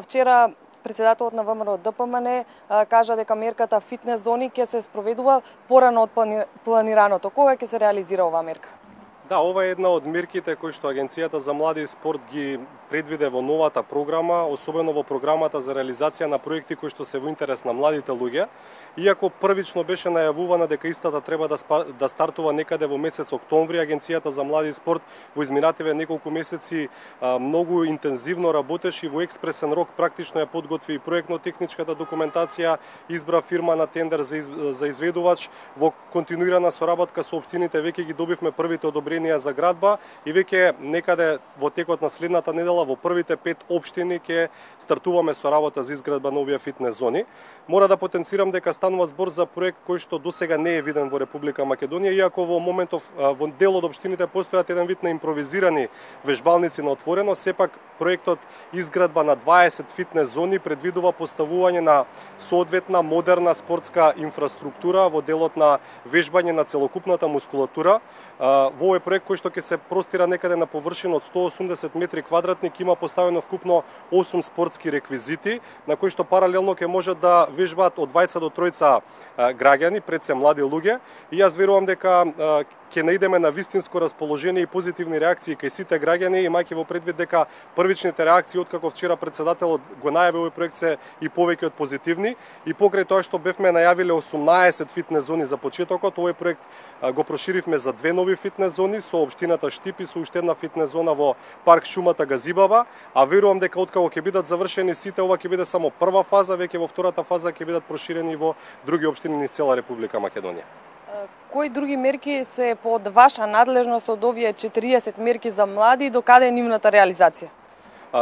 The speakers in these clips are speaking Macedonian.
Вчера председателот на ВМРО ДПМН кажа дека мерката фитнес зони ќе се спроведува порано од планираното. Кога ќе се реализира оваа мерка? Да, ова е една од мерките кои што Агенцијата за млади и спорт ги предвиде во новата програма, особено во програмата за реализација на проекти кои што се во интерес на младите луѓе. Иако првично беше најавувана дека истата треба да стартува некаде во месец октомври, Агенцијата за млади и спорт во изминативе неколку месеци многу интензивно работеше и во експресен рок практично ја подготви и проектно-техничката документација, избра фирма на тендер за изведувач. Во континуирана соработка со општините веќе ги добивме првите одобренија за градба и веќе некаде во текот на следната недела во првите 5 општини ќе стартуваме со работа за изградба на овие фитнес зони. Мора да потенцирам дека станува збор за проект кој што досега не е виден во Република Македонија, иако во моментов во дел од општините постојат еден вид на импровизирани вежбалници на отворено, сепак проектот изградба на 20 фитнес зони предвидува поставување на соодветна модерна спортска инфраструктура во делот на вежбање на целокупната мускулатура. Во овој проект кој што ќе се простира некаде на површина од 180 метри квадратни, има поставено вкупно 8 спортски реквизити, на кои што паралелно ќе можат да вежбаат од 2 до 3 граѓани, пред се млади луѓе. И јас верувам дека ќе наидеме на вистинско расположение и позитивни реакции кај сите граѓани, имајќи во предвид дека првичните реакции откако вчера председателот го најави овој проект се и повеќе од позитивни, и покрај тоа што бевме најавиле 18 фитнес зони за почетокот, овој проект го проширивме за 2 нови фитнес зони со општината Штип и со уште една фитнес зона во парк Шумата Газибаба, а верувам дека откако ќе бидат завршени сите, ова ќе биде само прва фаза, веќе во втората фаза ќе бидат проширени во други општини низ цела Република Македонија. Кои други мерки се под ваша надлежност од овие 40 мерки за млади и докаде е нивната реализација?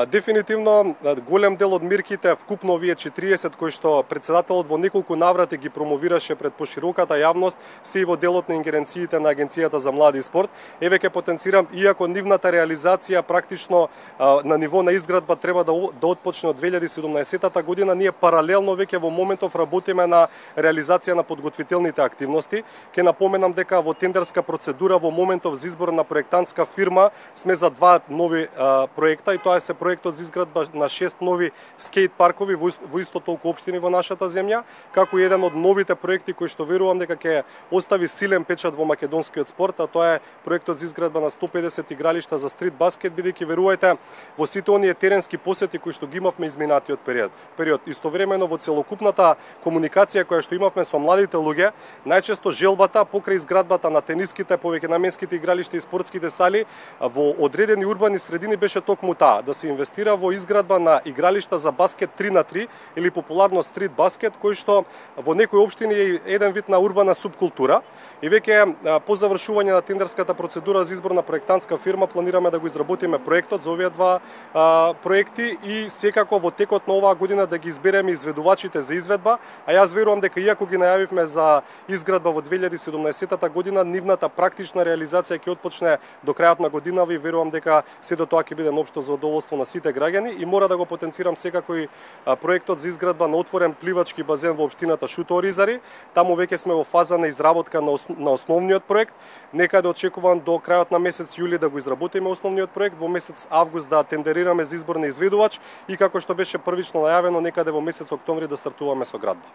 Дефинитивно голем дел од мерките, вкупно овие 40 кои што председателот во неколку наврати ги промовираше пред пошироката јавност, се и во делот на ингеренциите на Агенцијата за млади и спорт. Еве ќе потенцирам, иако нивната реализација практично на ниво на изградба треба да отпочне од 2017 година, ние паралелно веќе во моментов работиме на реализација на подготвителните активности. Ќе напоменам дека во тендерска процедура во моментов за избор на проектантска фирма сме за 2 нови проекта, и тоа е проектот за изградба на 6 нови скејт паркови во исто толку општини во нашата земја, како и еден од новите проекти кои што верувам дека ќе остави силен печат во македонскиот спорт, а тоа е проектот за изградба на 150 игралишта за стрит баскет, бидејќи верувајте во сите оние теренски посети кои што ги имавме изминатиот период. Истовремено во целокупната комуникација која што имавме со младите луѓе, најчесто желбата покрај изградбата на тениските, повеќе наменските игралишта и спортските сали во одредени урбани средини беше токму таа, да се инвестира во изградба на игралишта за баскет 3×3 или популарно стрит баскет, кој што во некои општини е еден вид на урбана субкултура. И веќе по завршување на тендерската процедура за избор на проектантска фирма планираме да го изработиме проектот за овие 2 проекти и секако во текот на оваа година да ги избереме изведувачите за изведба, а јас верувам дека иако ги најавивме за изградба во 2017 година, нивната практична реализација ќе отпочне до крајот на година и верувам дека сето тоа ќе биде на општо задоволство на сите граѓани. И мора да го потенцирам секако и проектот за изградба на отворен пливачки базен во општината Шуто-Оризари. Таму веќе сме во фаза на изработка на основниот проект. Некаде очекувам до крајот на месец јули да го изработиме основниот проект, во месец август да тендерираме за избор на изведувач и како што беше првично најавено, некаде во месец октомври да стартуваме со градба.